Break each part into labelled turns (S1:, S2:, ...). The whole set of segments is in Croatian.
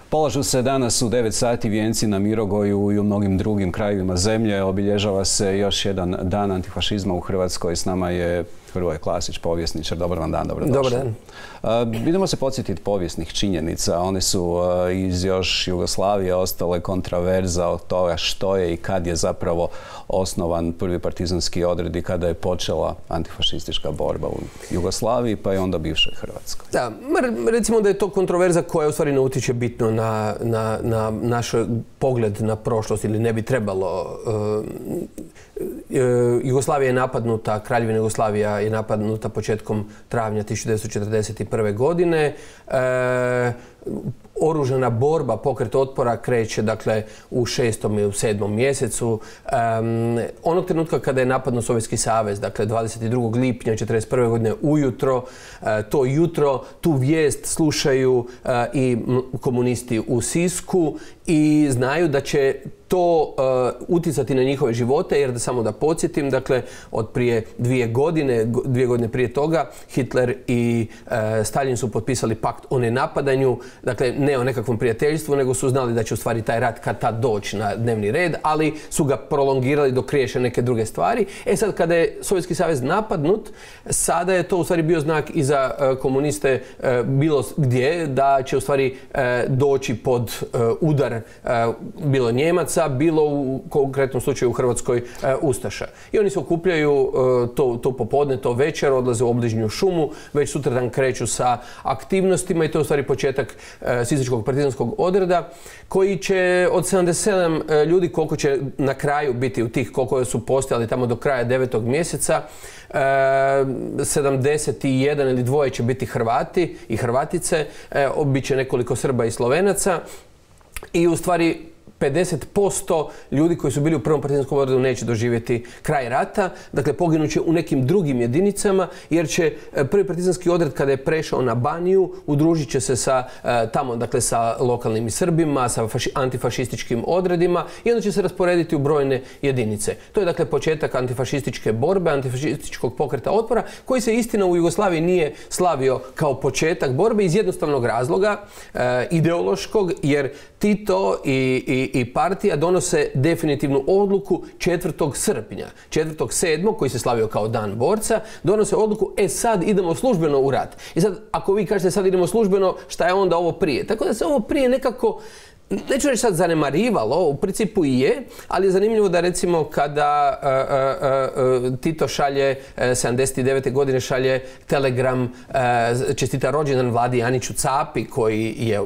S1: Polažu se danas u 9 sati vijenci na Mirogoju i u mnogim drugim krajevima zemlje. Obilježava se još jedan dan antifašizma u Hrvatskoj. S nama je Hrvoje Klasić, povjesničar. Dobar vam dan, dobrodošli.
S2: Dobar dan.
S1: Idemo se podsjetiti povijesnih činjenica. One su iz još Jugoslavije ostale kontraverza od toga što je i kad je zapravo osnovan prvi partizanski odred i kada je počela antifašistička borba u Jugoslaviji, pa i onda bivšoj Hrvatskoj.
S2: Da, recimo da je to kontroverza koja u stvari ne utječe bitno na naš pogled na prošlost ili ne bi trebalo. Jugoslavija je napadnuta, Kraljevina Jugoslavija je napadnuta početkom travnja 1941. godine. Oružana borba, pokret otpora kreće dakle u 6. i u 7. mjesecu. Onog trenutka kada je napadnut Sovjetski savez, dakle 22. lipnja 1941. godine ujutro, to jutro, tu vijest slušaju i komunisti u Sisku i znaju da će to utjecati na njihove živote, jer samo da podsjetim, dakle, od prije 2 godine prije toga, Hitler i Stalin su potpisali pakt o nenapadanju, dakle, ne o nekakvom prijateljstvu, nego su znali da će u stvari taj rat kad tad doći na dnevni red, ali su ga prolongirali dok riješe neke druge stvari. Sad, kada je Sovjetski savez napadnut, sada je to u stvari bio znak i za komuniste bilo gdje, da će u stvari doći pod udar bilo Njemaca, bilo u konkretnom slučaju u Hrvatskoj ustaša. I oni se okupljaju to popodne, to večer, odlaze u obližnju šumu, već sutradan kreću sa aktivnostima i to je u stvari početak sisačkog partizanskog odreda, koji će od 77 ljudi, koliko će na kraju biti u tih, koliko su postojali tamo do kraja 9. mjeseca, 71 ili 2 će biti Hrvati i Hrvatice, bit će nekoliko Srba i Slovenaca i u stvari 50% ljudi koji su bili u prvom partizanskom odredu neće doživjeti kraj rata, dakle poginuće u nekim drugim jedinicama, jer će prvi partizanski odred kada je prešao na Baniju udružit će se sa tamo, dakle sa lokalnim Srbima, sa antifašističkim odredima i onda će se rasporediti u brojne jedinice. To je dakle početak antifašističke borbe, antifašističkog pokreta otpora, koji se istina u Jugoslaviji nije slavio kao početak borbe iz jednostavnog razloga, ideološkog, jer Tito i partija donose definitivnu odluku 4. srpnja. 4.7. koji se slavio kao dan borca, donose odluku, sad idemo službeno u rat. I sad, ako vi kažete sad idemo službeno, šta je onda ovo prije? Tako da se ovo prije nekako, neću reći sad zanemarivalo, u principu i je, ali je zanimljivo da recimo kada Tito šalje 79. godine šalje telegram, čestita rođendan Vladi Aniću Capi, koji je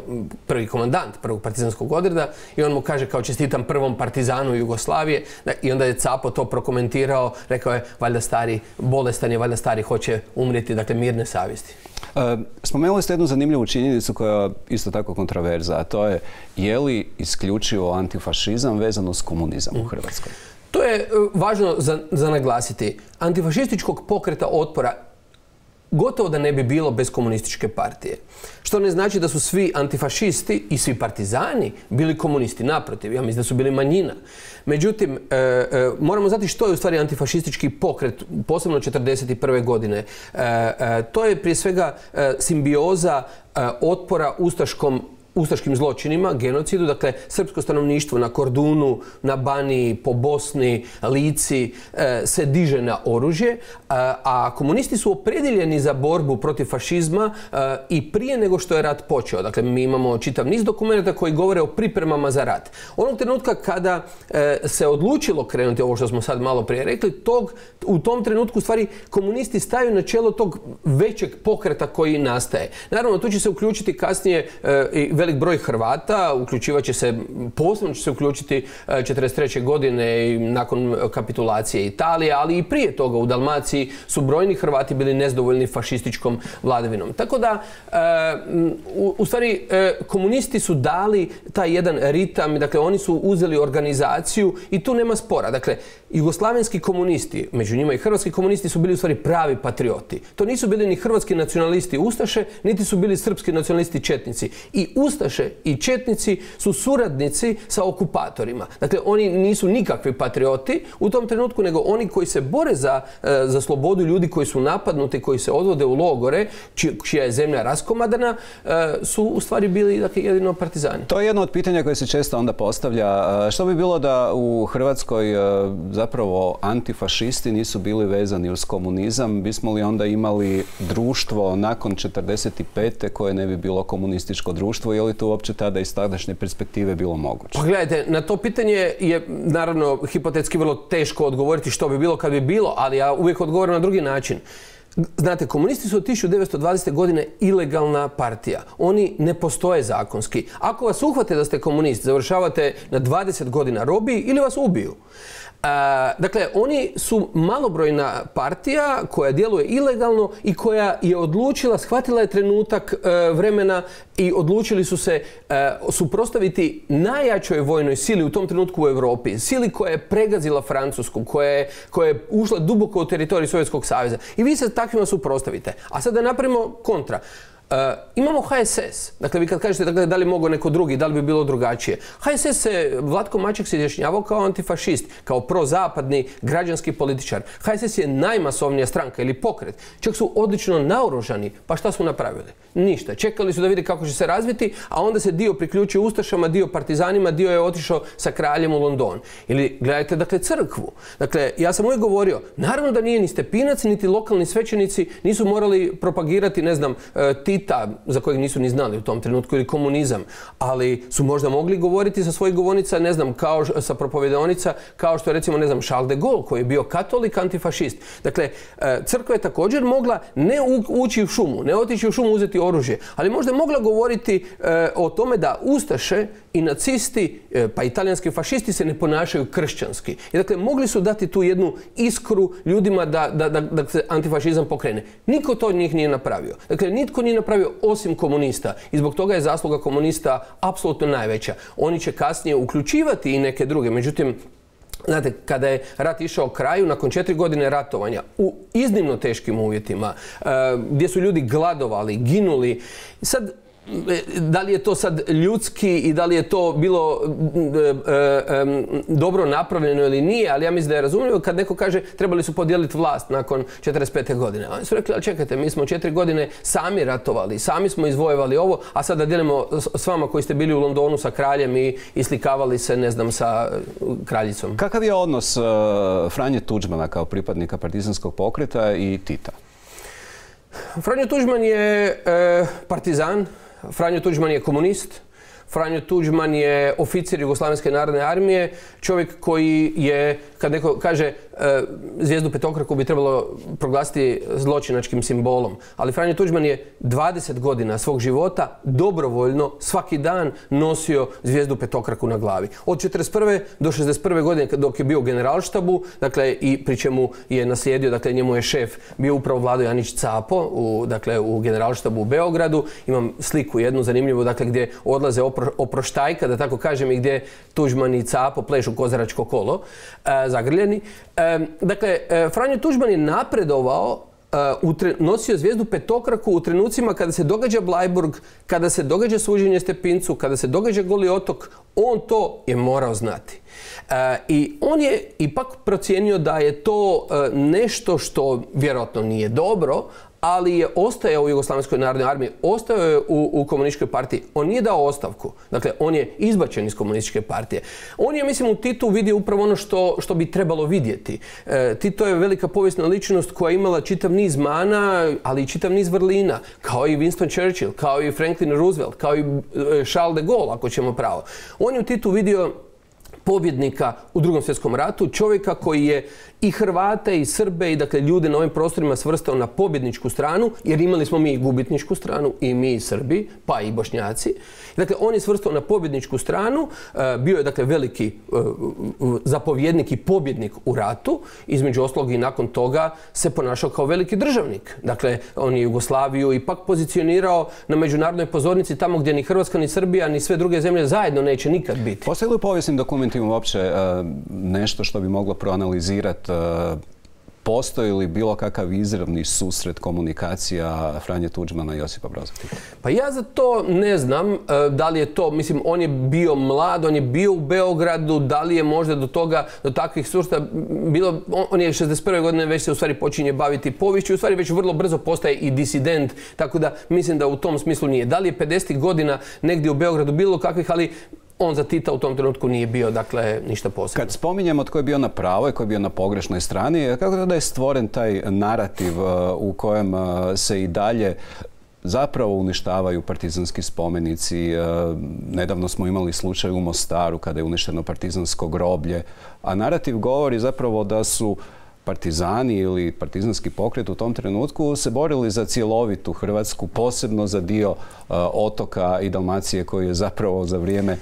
S2: prvi komandant prvog partizanskog odreda, i on mu kaže kao čestitam prvom partizanu Jugoslavije, i onda je Capo to prokomentirao, rekao je valjda stari bolestan je, valjda stari hoće umrijeti, dakle mirne savjesti.
S1: Spomenuli ste jednu zanimljivu činjenicu koja je isto tako kontroverza, a to je li isključivo antifašizam vezano s komunizam u Hrvatskoj?
S2: To je važno za naglasiti. Antifašističkog pokreta otpora gotovo da ne bi bilo bez komunističke partije. Što ne znači da su svi antifašisti i svi partizani bili komunisti. Naprotiv, ja mislim da su bili manjina. Međutim, moramo znati što je u stvari antifašistički pokret, posebno 1941. godine. To je prije svega simbioza otpora ustaškim zločinima, genocidu, dakle srpsko stanovništvo na Kordunu, na Baniji, po Bosni, Lici se diže na oružje, a komunisti su opredjeljeni za borbu protiv fašizma i prije nego što je rat počeo. Dakle, mi imamo čitav niz dokumenta koji govore o pripremama za rat. Onog trenutka kada se odlučilo krenuti, ovo što smo sad malo prije rekli, u tom trenutku u stvari komunisti staju na čelo tog većeg pokreta koji nastaje. Naravno, tu će se uključiti kasnije i velik broj Hrvata, posebno će se uključiti 1943. godine i nakon kapitulacije Italije, ali i prije toga u Dalmaciji su brojni Hrvati bili nezadovoljni fašističkom vladavinom. Tako da, u stvari, komunisti su dali taj jedan ritam, dakle oni su uzeli organizaciju i tu nema spora. Dakle, jugoslavenski komunisti, među njima i hrvatski komunisti, su bili u stvari pravi patrioti. To nisu bili ni hrvatski nacionalisti ustaše, niti su bili srpski nacionalisti četnici. I ustaše i četnici su suradnici sa okupatorima. Dakle, oni nisu nikakvi patrioti u tom trenutku, nego oni koji se bore za slobodu, ljudi koji su napadnuti, koji se odvode u logore, čija je zemlja raskomadana, su u stvari bili, dakle, jedino partizani.
S1: To je jedno od pitanja koje se često onda postavlja. Što bi bilo da u Hrvatskoj zapravo antifašisti nisu bili vezani uz komunizam? Bismo li onda imali društvo nakon 1945. koje ne bi bilo komunističko društvo? Je li to uopće tada iz tadašnje perspektive bilo moguće?
S2: Pa gledajte, na to pitanje je naravno hipotetski vrlo teško odgovoriti što bi bilo kad bi bilo, ali ja uvijek odgovorim na drugi način. Znate, komunisti su od 1920. godine ilegalna partija. Oni ne postoje zakonski. Ako vas uhvate da ste komunist, završavate na 20 godina robiji ili vas ubiju. Dakle, oni su malobrojna partija koja djeluje ilegalno i koja je odlučila, shvatila je trenutak vremena i odlučili su se suprotstaviti najjačoj vojnoj sili u tom trenutku u Europi. Sili koja je pregazila Francusku, koja je ušla duboko u teritorij Sovjetskog saveza. I vi se takvima suprotstavite. A sad da napravimo kontra. Imamo HSS. Dakle, vi kad kažete dakle, da li mogo neko drugi, da li bi bilo drugačije. HSS Vlatko Maček se izjašnjavao kao antifašist, kao prozapadni građanski političar. HSS je najmasovnija stranka ili pokret. Čak su odlično naoružani. Pa šta su napravili? Ništa. Čekali su da vidi kako će se razviti, a onda se dio priključio ustašama, dio partizanima, dio je otišao sa kraljem u London. Ili gledajte, dakle, crkvu. Dakle, ja sam uvijek govorio, naravno da nije ni Stepinac, niti lokalni svećenici nisu morali propagirati, ne znam, Tita, za kojeg nisu ni znali u tom trenutku, ili komunizam, ali su možda mogli govoriti sa svojih govornica, ne znam, kao sa propovjedaonica, kao što je recimo, ne znam, Charles de Gaulle, koji je bio katolik, antifašist. Dakle, crkva je također mogla ne ući u šumu, ne otići u šumu uzeti oružje, ali možda je mogla govoriti o tome da ustaše i nacisti, pa i talijanski fašisti se ne ponašaju kršćanski. I dakle, mogli su dati tu jednu iskru ljudima da se antifašizam pokrene. Niko to od njih nije napravio. Dakle, nitko nije napravio osim komunista. I zbog toga je zasluga komunista apsolutno najveća. Oni će kasnije uključivati i neke druge. Međutim, znate, kada je rat išao kraju, nakon 4 godine ratovanja, u iznimno teškim uvjetima, gdje su ljudi gladovali, ginuli, sad, da li je to sad ljudski i da li je to bilo dobro napravljeno ili nije, ali ja mislim da je razumljivo kad neko kaže trebali su podijeliti vlast nakon 45. godine. Oni su rekli, ali čekajte, mi smo 4 godine sami ratovali, sami smo izvojevali ovo, a sad da dijelimo s vama koji ste bili u Londonu sa kraljem i slikavali se, ne znam, sa kraljicom.
S1: Kakav je odnos Franje Tuđmana kao pripadnika partizanskog pokreta i Tita?
S2: Franjo Tuđman je partizan, Franjo Tuđman je komunist, Franjo Tuđman je oficir Jugoslavenske narodne armije, čovjek koji je, kad neko kaže zvijezdu petokraku bi trebalo proglasiti zločinačkim simbolom. Ali Franjo Tuđman je 20 godina svog života dobrovoljno svaki dan nosio zvijezdu petokraku na glavi. Od 1941. do 1961. godine dok je bio u generalštabu, dakle i pri čemu je naslijedio, dakle njemu je šef bio upravo Vlado Janić Capo, u generalštabu u Beogradu. Imam sliku jednu zanimljivu, dakle gdje odlaze oproštajka, da tako kažem, i gdje Tuđman i Capo plešu kozaračko kolo, zagrljeni. Dakle, Franjo Tuđman je napredovao, nosio zvijezdu petokraku u trenucima kada se događa Bleiburg, kada se događa suđenje Stepincu, kada se događa Goli otok, on to je morao znati. I on je ipak procijenio da je to nešto što vjerojatno nije dobro, ali je ostajao u Jugoslavenskoj narodnoj armiji, ostao je u komunističkoj partiji. On nije dao ostavku. Dakle, on je izbačen iz komunističke partije. On je, mislim, u Titu vidio upravo ono što bi trebalo vidjeti. Tito je velika povijesna ličnost koja je imala čitav niz mana, ali i čitav niz vrlina. Kao i Winston Churchill, kao i Franklin Roosevelt, kao i Charles de Gaulle, ako ćemo pravo. On je u Titu vidio pobjednika u Drugom svjetskom ratu, čovjeka koji je i Hrvate i Srbe i dakle ljude na ovim prostorima svrstao na pobjedničku stranu, jer imali smo mi i gubitničku stranu, i mi i Srbi, pa i Bošnjaci. Dakle, on je svrstao na pobjedničku stranu, bio je dakle veliki zapovjednik i pobjednik u ratu, između ostalog i nakon toga se ponašao kao veliki državnik. Dakle, on je Jugoslaviju ipak pozicionirao na međunarodnoj pozornici tamo gdje ni Hrvatska, ni Srbija, ni sve druge zemlje zajedno neće nikad biti.
S1: Postoji li u povijesnim dokumentima uopće nešto što bi moglo proanalizirati postoji li bilo kakav izravni susret komunikacija Franje Tuđmana i Josipa Broza Tita?
S2: Pa ja za to ne znam da li je to, mislim, on je bio mlad, on je bio u Beogradu, da li je možda do takvih susreta bilo, on je 61. godine već se u stvari počinje baviti poviješću, u stvari već vrlo brzo postaje i disident, tako da mislim da u tom smislu nije. Da li je 50. godina negdje u Beogradu bilo kakvih, ali on za Tita u tom trenutku nije bio, dakle, ništa posebno.
S1: Kad spominjemo tko je bio na pravoj, tko je bio na pogrešnoj strani, kako da je stvoren taj narativ u kojem se i dalje zapravo uništavaju partizanski spomenici? Nedavno smo imali slučaj u Mostaru kada je uništeno partizansko groblje, a narativ govori zapravo da su partizani ili partizanski pokret u tom trenutku se borili za cjelovitu Hrvatsku, posebno za dio otoka i Dalmacije koji je zapravo za vrijeme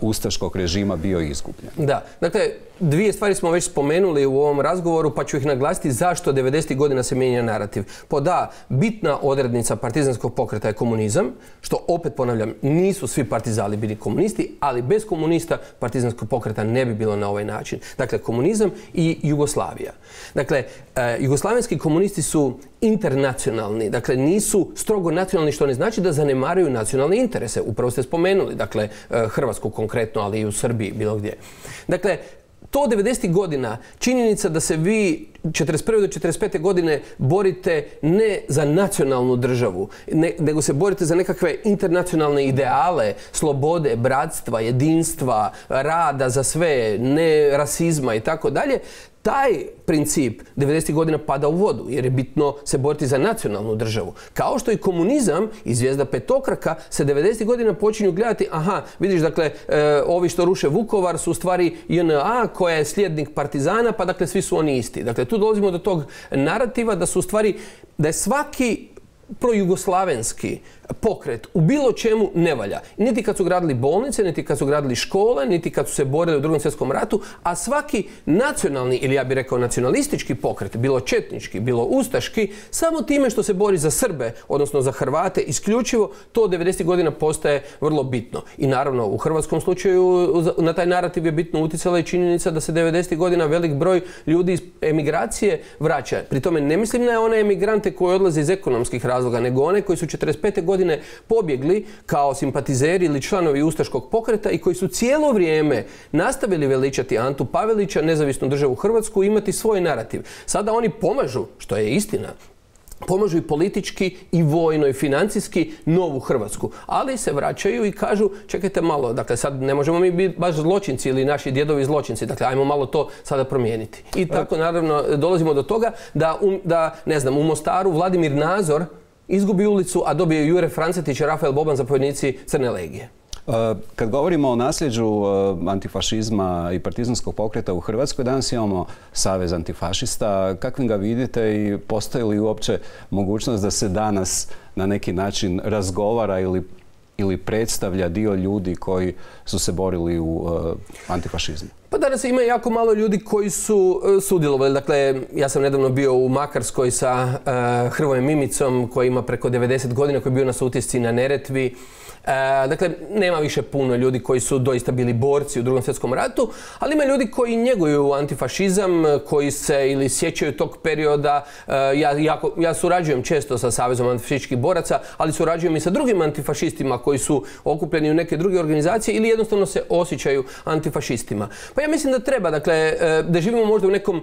S1: ustaškog režima bio izgubljen.
S2: Da, dakle, dvije stvari smo već spomenuli u ovom razgovoru, pa ću ih naglasiti zašto 90. godina se mijenja narativ. Bitna odrednica partizanskog pokreta je komunizam, što opet ponavljam, nisu svi partizani bili komunisti, ali bez komunista partizanskog pokreta ne bi bilo na ovaj način. Dakle, komunizam i Jugoslavija. Dakle, jugoslavenski komunisti su internacionalni, dakle nisu strogo nacionalni, što ne znači da zanemaruju nacionalne interese. Upravo ste spomenuli, dakle, Hrvatsku konkretno, ali i u Srbiji, bilo gdje. Dakle, to 90. godina, činjenica da se vi 41. do 45. godine borite ne za nacionalnu državu, nego se borite za nekakve internacionalne ideale, slobode, bratstva, jedinstva, rada za sve, ne rasizma i tako dalje, taj princip 90. godina pada u vodu, jer je bitno se boriti za nacionalnu državu. Kao što i komunizam i zvijezda petokraka se 90. godina počinju gledati, aha, vidiš, dakle, ovi što ruše Vukovar su u stvari JNA koja je slijednik partizana, pa dakle svi su oni isti. Dakle, tu dolazimo do tog narativa da su u stvari, da je svaki projugoslavenski pokret u bilo čemu ne valja. Niti kad su gradili bolnice, niti kad su gradili škole, niti kad su se borili u Drugom svjetskom ratu, a svaki nacionalni, ili ja bih rekao nacionalistički pokret, bilo četnički, bilo ustaški, samo time što se bori za Srbe, odnosno za Hrvate, isključivo, to 90. godina postaje vrlo bitno. I naravno, u hrvatskom slučaju na taj narativ je bitno utjecala i činjenica da se 90. godina velik broj ljudi iz emigracije vraća. Pri tome ne mislim na one emigrante koji odlaze iz ekonomskih razloga, nego one koji su 45. godine pobjegli kao simpatizeri ili članovi ustaškog pokreta i koji su cijelo vrijeme nastavili veličati Antu Pavelića, nezavisnu državu Hrvatsku, i imati svoj narativ. Sada oni pomažu, što je istina, pomažu i politički i vojno i financijski novu Hrvatsku. Ali se vraćaju i kažu, čekajte malo, dakle sad ne možemo mi biti baš zločinci ili naši djedovi zločinci, dakle ajmo malo to sada promijeniti. I tako naravno dolazimo do toga da ne znam, u Mostaru Vladimir Nazor izgubi ulicu, a dobije Jure Francetić i Rafael Boban, zapovjednici Crne legije.
S1: Kad govorimo o nasljeđu antifašizma i partizanskog pokreta u Hrvatskoj, danas imamo Savez antifašista. Kakvim ga vidite i postoji li uopće mogućnost da se danas na neki način razgovara ili predstavlja dio ljudi koji su se borili u antifašizmu?
S2: Pa danas ima jako malo ljudi koji su sudjelovali. Dakle, ja sam nedavno bio u Makarskoj sa Hrvojem Mimicom koji ima preko 90 godina, koji je bio na utisci na Neretvi. Dakle, nema više puno ljudi koji su doista bili borci u Drugom svjetskom ratu, ali ima ljudi koji njeguju antifašizam, koji se ili sjećaju tog perioda. Ja surađujem često sa Savezom antifašističkih boraca, ali surađujem i sa drugim antifašistima koji su okupljeni u neke druge organizacije ili jednostavno se osjećaju antifašistima. Pa ja mislim da treba, dakle, da živimo možda u nekom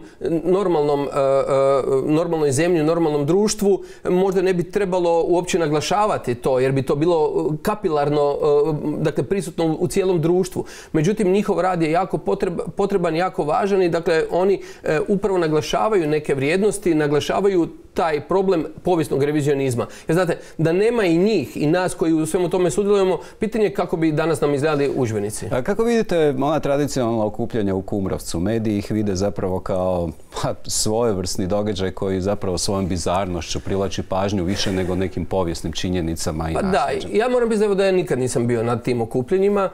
S2: normalnoj zemlji, normalnom društvu, možda ne bi trebalo uopće naglašavati to, jer bi to bilo kapilarno, dakle, prisutno u cijelom društvu. Međutim, njihov rad je jako potreban, jako važan i dakle, oni upravo naglašavaju neke vrijednosti, naglašavaju taj problem povijesnog revizionizma. Jer znate, da nema i njih i nas koji u svemu tome sudjelujemo, pitanje je kako bi danas nam izgledali udžbenici.
S1: A kako vidite ona tradicionalna okupljanja u Kumrovcu? Mediji ih vide zapravo kao svojevrsni događaj koji zapravo svojom bizarnošću privlači pažnju više nego nekim povijesnim činjenicama i nasljeđem.
S2: Da, ja moram biti da ja nikad nisam bio na tim okupljenjima.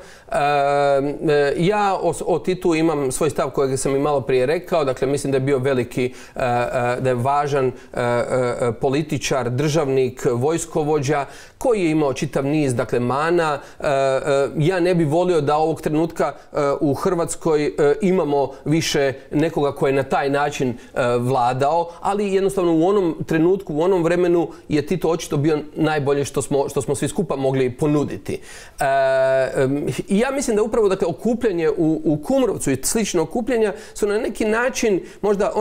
S2: Ja o Titu imam svoj stav kojeg sam i malo prije rekao. Dakle, mislim da je bio veliki, da je važan političar, državnik, vojskovođa koji je imao čitav niz, dakle, mana. Ja ne bi volio da ovog trenutka u Hrvatskoj imamo više nekoga koji je na taj način vladao, ali jednostavno u onom trenutku, u onom vremenu je Tito očito bio najbolje što smo svi skupa mogli ponuditi. I ja mislim da upravo, dakle, okupljanje u Kumrovcu i slično okupljanja su na neki način možda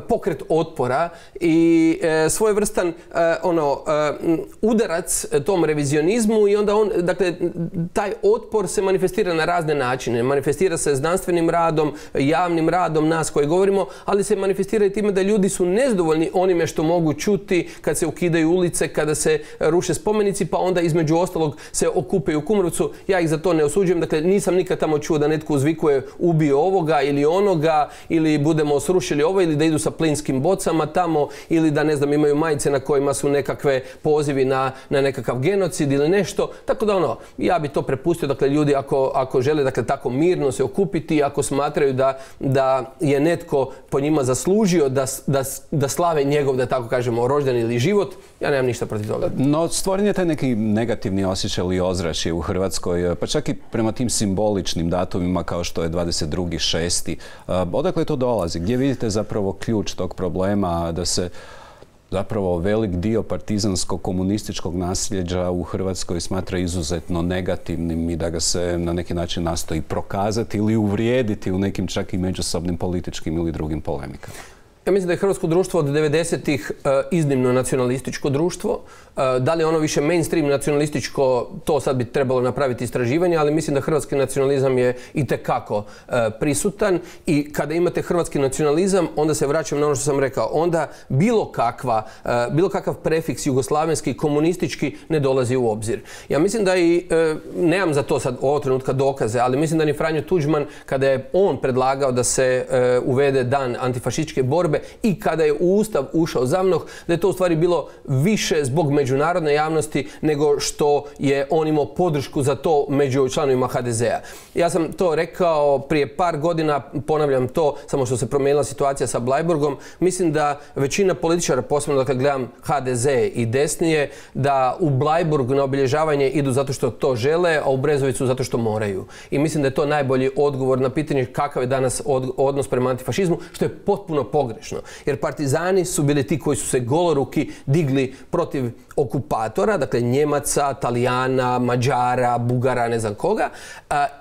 S2: pokret otpora i svojevrstan udarac tom revizionizmu i onda dakle, taj otpor se manifestira na razne načine. Manifestira se znanstvenim radom, javnim radom nas koji govorimo, ali se manifestira i time da ljudi su nezadovoljni onime što mogu čuti kad se ukidaju ulice, kada se ruše spomenici, pa onda između ostalog se okupaju u Kumrovcu. Ja ih za to ne osuđujem, dakle nisam nikad tamo čuo da netko uzvikuje ubio ovoga ili onoga, ili budemo srušili ovo, ili da idu sa plinskim bocama tamo, ili da, ne znam, imaju majice na kojima su nekakve pozivi na nekakav genocid ili nešto. Tako da ja bi to prepustio, dakle, ljudi ako žele, dakle, tako mirno se okupiti, ako smatraju da je netko po njima zaslužio da slave njegov, da tako kažemo, rođendan ili život, ja nemam ništa protiv toga.
S1: No, stvoren je taj neki negativni osjećaj ili ozračje u Hrvatskoj, pa čak i prema tim simboličnim datumima kao što je 22.6. Odakle to dolazi? Gdje vidite zapravo ključ tog problema da se zapravo velik dio partizansko-komunističkog nasljeđa u Hrvatskoj smatra izuzetno negativnim i da ga se na neki način nastoji prokazati ili uvrijediti u nekim čak i međusobnim političkim ili drugim polemikama?
S2: Ja mislim da je hrvatsko društvo od 90-ih iznimno nacionalističko društvo. Da li je ono više mainstream nacionalističko, to sad bi trebalo napraviti istraživanje, ali mislim da hrvatski nacionalizam je itekako prisutan i kada imate hrvatski nacionalizam, onda se vraćam na ono što sam rekao, onda bilo kakav prefiks jugoslavenski, komunistički ne dolazi u obzir. Ja mislim da i, nemam za to sad ovog trenutka dokaze, ali mislim da ni Franjo Tuđman, kada je on predlagao da se uvede dan antifašističke borbe i kada je u Ustav ušao ZAVNOH, da je to u stvari bilo više zbog međunarodne javnosti nego što je on imao podršku za to među članovima HDZ-a. Ja sam to rekao prije par godina, ponavljam to, samo što se promijenila situacija sa Bleiburgom. Mislim da većina političara, posebno dakle gledam HDZ i desnije, da u Bleiburg na obilježavanje idu zato što to žele, a u Brezovicu zato što moraju. I mislim da je to najbolji odgovor na pitanje kakav je danas odnos prema antifašizmu, što je potpuno pogrešno. Jer partizani su bili ti koji su se goloruki digli protiv okupatora, dakle Njemaca, Talijana, Mađara, Bugara, ne znam koga,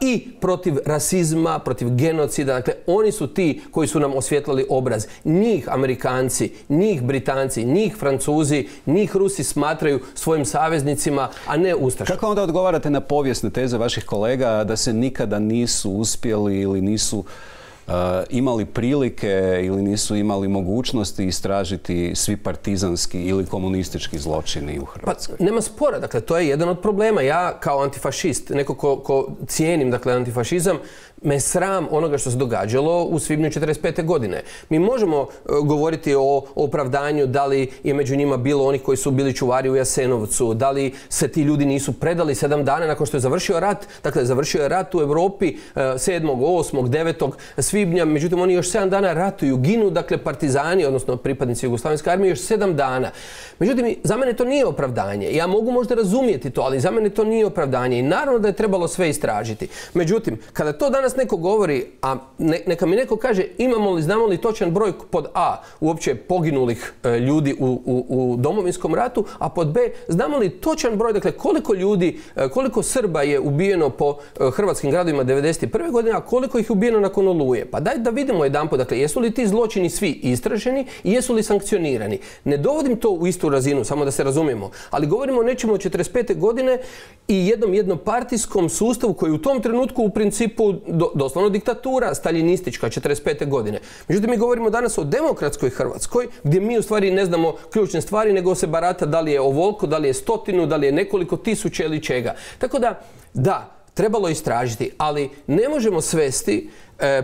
S2: i protiv rasizma, protiv genocida. Dakle, oni su ti koji su nam osvjetlali obraz. Njih Amerikanci, njih Britanci, njih Francuzi, njih Rusi smatraju svojim saveznicima, a ne ustašama.
S1: Kako onda odgovarate na povijesne teze vaših kolega da se nikada nisu uspjeli ili nisu imali prilike ili nisu imali mogućnosti istražiti svi partizanski ili komunistički zločini u Hrvatskoj?
S2: Pa nema spora, dakle to je jedan od problema. Ja kao antifašist, neko ko cijenim, dakle, antifašizam, me sram onoga što se događalo u svibnju 1945. godine. Mi možemo govoriti o opravdanju da li je među njima bilo onih koji su bili čuvari u Jasenovcu, da li se ti ljudi nisu predali 7 dana nakon što je završio rat. Dakle, završio je rat u Europi 7., 8., 9. svibnja, međutim oni još 7 dana ratuju, ginu, dakle, partizani, odnosno pripadnici Jugoslavenske armije, još 7 dana. Međutim, za mene to nije opravdanje. Ja mogu možda razumjeti to, ali za mene to nije opravdanje i naravno da je trebalo sve istražiti. Međutim, kada to danas neko govori, a neka mi neko kaže imamo li, znamo li točan broj pod A uopće poginulih ljudi u Domovinskom ratu, a pod B znamo li točan broj, dakle koliko ljudi, koliko Srba je ubijeno po hrvatskim gradovima 1991. godine, a koliko ih je ubijeno nakon Oluje. Pa daj da vidimo jedanput, dakle jesu li ti zločini svi istraženi i jesu li sankcionirani. Ne dovodim to u istu razinu, samo da se razumijemo, ali govorimo o nečemu od 1945. godine i jednom jednopartijskom sustavu koji u tom trenutku u principu doslovno diktatura staljinistička 1945. godine. Međutim, mi govorimo danas o demokratskoj Hrvatskoj gdje mi u stvari ne znamo ključne stvari nego se barata da li je ovoliko, da li je 100, da li je nekoliko tisuća ili čega. Tako da, trebalo istražiti, ali ne možemo svesti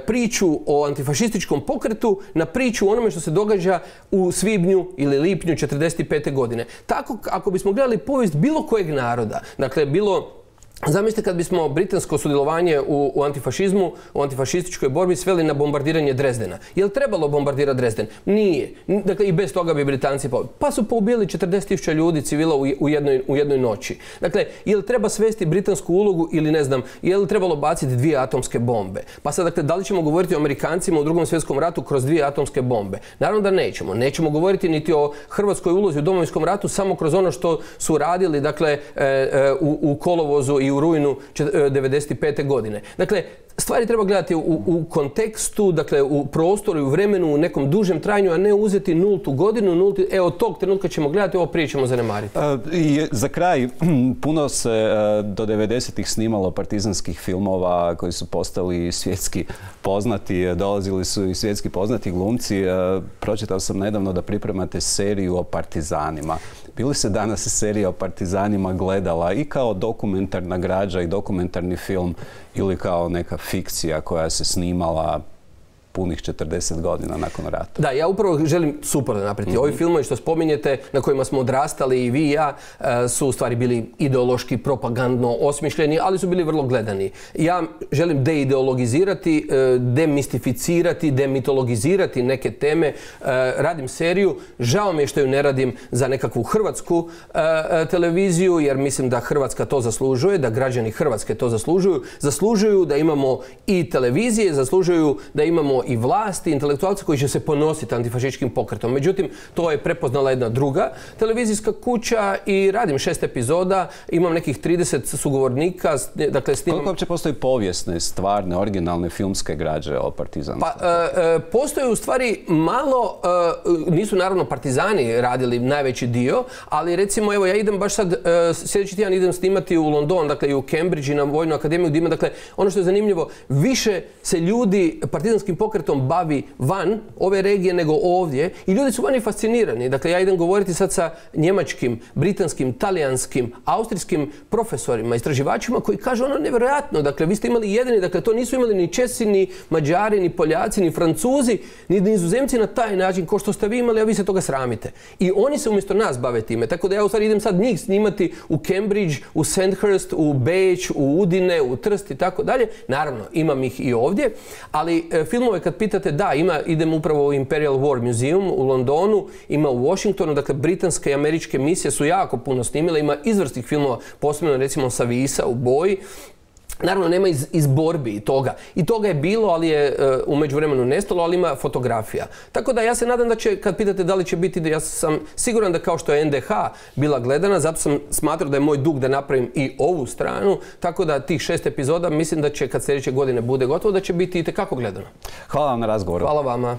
S2: priču o antifašističkom pokretu na priču o onome što se događa u svibnju ili lipnju 1945. godine. Tako, ako bismo gledali povijest bilo kojeg naroda, dakle bilo Zamislite kad bismo britansko sudjelovanje u antifašizmu, u antifašističkoj borbi sveli na bombardiranje Drezdena. Je li trebalo bombardirati Drezden? Nije. Dakle, i bez toga bi Britanci pa su poubili 40.000 ljudi civila u jednoj noći. Dakle, je li treba svesti britansku ulogu ili ne znam, je li trebalo baciti 2 atomske bombe? Pa sad, dakle, da li ćemo govoriti o Amerikancima u Drugom svjetskom ratu kroz 2 atomske bombe? Naravno da nećemo. Nećemo govoriti niti o Hrvatskoj ulozi u Domovinskom ratu samo kroz ono što su radili, dakle, u kolovozu i u rujnu 1995. godine. Dakle, stvari treba gledati u kontekstu, dakle, u prostoru i u vremenu, u nekom dužem trajanju, a ne uzeti nultu godinu, od tog trenutka ćemo gledati, ovo prije ćemo zanemariti.
S1: Za kraj, puno se do 90-ih snimalo partizanskih filmova koji su postali svjetski poznati, dolazili su i svjetski poznati glumci. Pročitao sam nedavno da pripremate seriju o partizanima. Bi li se danas serija o partizanima gledala i kao dokumentarna građa i dokumentarni film ili kao neka fikcija koja se snimala punih 40 godina nakon rata?
S2: Da, ja upravo želim suprotno napraviti. Ovi filmovi što spominjete, na kojima smo odrastali i vi i ja, su u stvari bili ideološki, propagandno osmišljeni, ali su bili vrlo gledani. Ja želim deideologizirati, demistificirati, demitologizirati neke teme. Radim seriju. Žao mi je što ju ne radim za nekakvu hrvatsku televiziju, jer mislim da Hrvatska to zaslužuje, da građani Hrvatske to zaslužuju. Zaslužuju da imamo i televizije, zaslužuju da imamo i vlasti, intelektualci koji će se ponositi antifašističkim pokretom. Međutim, to je prepoznala jedna druga televizijska kuća i radim 6 epizoda, imam nekih 30 sugovornika, dakle snimam...
S1: Koliko uopće postoji povijesne, stvarne, originalne filmske građe o partizanstvu?
S2: Pa, postoje u stvari malo, nisu naravno partizani radili najveći dio, ali recimo, evo, ja idem baš sad, sljedeći tjedan idem snimati u London, dakle i u Cambridge i na Vojnu akademiju gdje ima, dakle, ono što je zanimljivo, više se ljudi partizanskim pokretom bavi van ove regije nego ovdje i ljudi su vani fascinirani. Dakle, ja idem govoriti sad sa njemačkim, britanskim, talijanskim, austrijskim profesorima, istraživačima koji kažu ono nevjerojatno. Dakle, vi ste imali jedini, dakle, to nisu imali ni Česi, ni Mađari, ni Poljaci, ni Francuzi, ni Nizozemci na taj način kao što ste vi imali, a vi se toga sramite. I oni se umjesto nas bave time. Tako da ja u stvari idem sad njih snimati u Cambridge, u Sandhurst, u Beč, u Udine, u Trst i tako dalje. Naravno, imam ih i ovdje, ali filmove kad pitate, da, idem upravo u Imperial War Museum u Londonu, ima u Washingtonu, dakle, britanske i američke misije su jako puno snimile, ima izvrsnih filmova, posebno recimo sa Visa u boji. Naravno, nema iz borbi toga. I toga je bilo, ali je u međuvremenu nestalo, ali ima fotografija. Tako da ja se nadam da će, kad pitate da li će biti, ja sam siguran da kao što je NDH bila gledana, zato sam smatrao da je moj dug da napravim i ovu stranu, tako da tih 6 epizoda mislim da će, kad sljedeće godine bude gotovo, da će biti itekako gledano.
S1: Hvala vam na razgovoru.
S2: Hvala vama.